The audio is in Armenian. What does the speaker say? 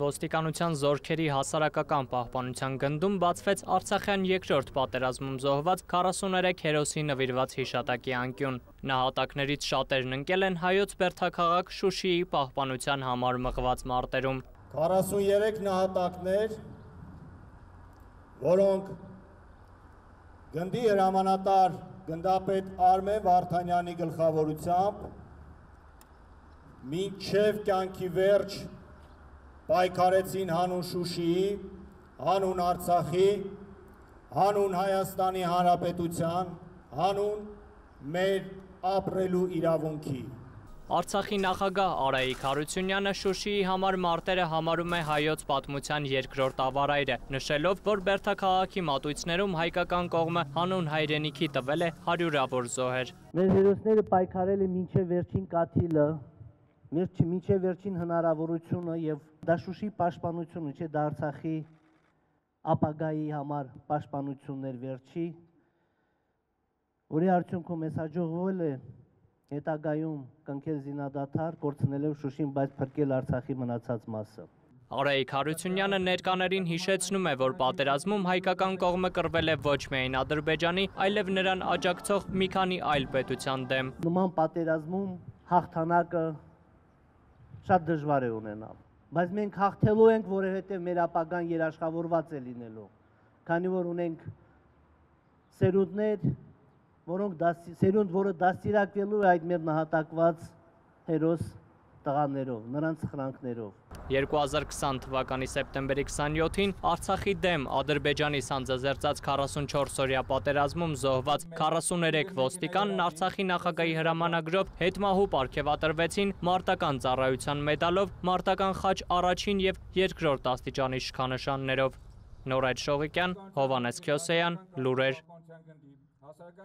Ոստիկանության զորքերի հասարակական պահպանության գնդում բացվեց Արցախյան երկրորդ պատերազմում զոհված 43 հերոսի նվիրված հիշատակի անկյուն։ Նահատակներից շատերն ընկել են հայոց բերդաքաղաք Շուշիի պահպանության համար մղված մարտերում։ 43 նահատակներ, որոնք գնդի հրամանատար գնդապետ Արմեն Վարդանյանի գլխավորությամբ մինչև կյանքի վերջ պայքարեցին հանուն Շուշիի, հանուն Արցախի, հանուն Հայաստանի Հանրապետության, հանուն մեր ապրելու իրավունքի։ Արցախի նախագահ Արայիկ Հարությունյանը Շուշիի համար մարտերը համարում է հայոց պատմության երկրորդ ավարայրը, նշելով, որ բերդաքաղաքի մատույցներում հայկական կողմը հանուն հայրենիքի տվել է հարյուրավոր զոհեր։ Մեր հերոսները պայքարել են մինչև վերջին կաթիլը, մինչև վերջին հնարավորությունը եւ դա Շուշիի պաշտպանությունը չէ, դա Արցախի ապագայի համար պաշտպանություններ վերջի, որի արդյունքում մեզ հաջողվել է հետագայում կնքել զինադադար, կորցնելով Շուշին, բայց փրկել Արցախի մնացած մասը։ Արայիկ Հարությունյանը ներկաներին հիշեցնում է, որ պատերազմում հայկական կողմը կռվել է ոչ միայն Ադրբեջանի, այլև նրան աջակցող մի քանի այլ պետության դեմ։ Նման պատերազմում հաղթանակը շատ դժվար է ունենալ, բայց մենք հաղթելու ենք, որովհետև մեր ապագան երաշխավորված է լինելու, քանի որ ունենք սերունդներ, որը դաստիարակվելու է այդ մեր նահատակված հերոս տղաներով, նրանց սխրանքներով։ 2020 թվականի սեպտեմբերի 27-ին Արցախի դեմ Ադրբեջանի սանձազերծած 44-օրյա պատերազմում զոհված 43 ոստիկանն Արցախի նախագահի հրամանագրով հետմահու պարգևատրվեցին մարտական ծառայության մեդալով, մարտական խաչ առաջին և երկրորդ աստիճանի շքանշաններով։ Նորայր Շողիկյան, Հովհաննես Քյոսեյան, լուրեր։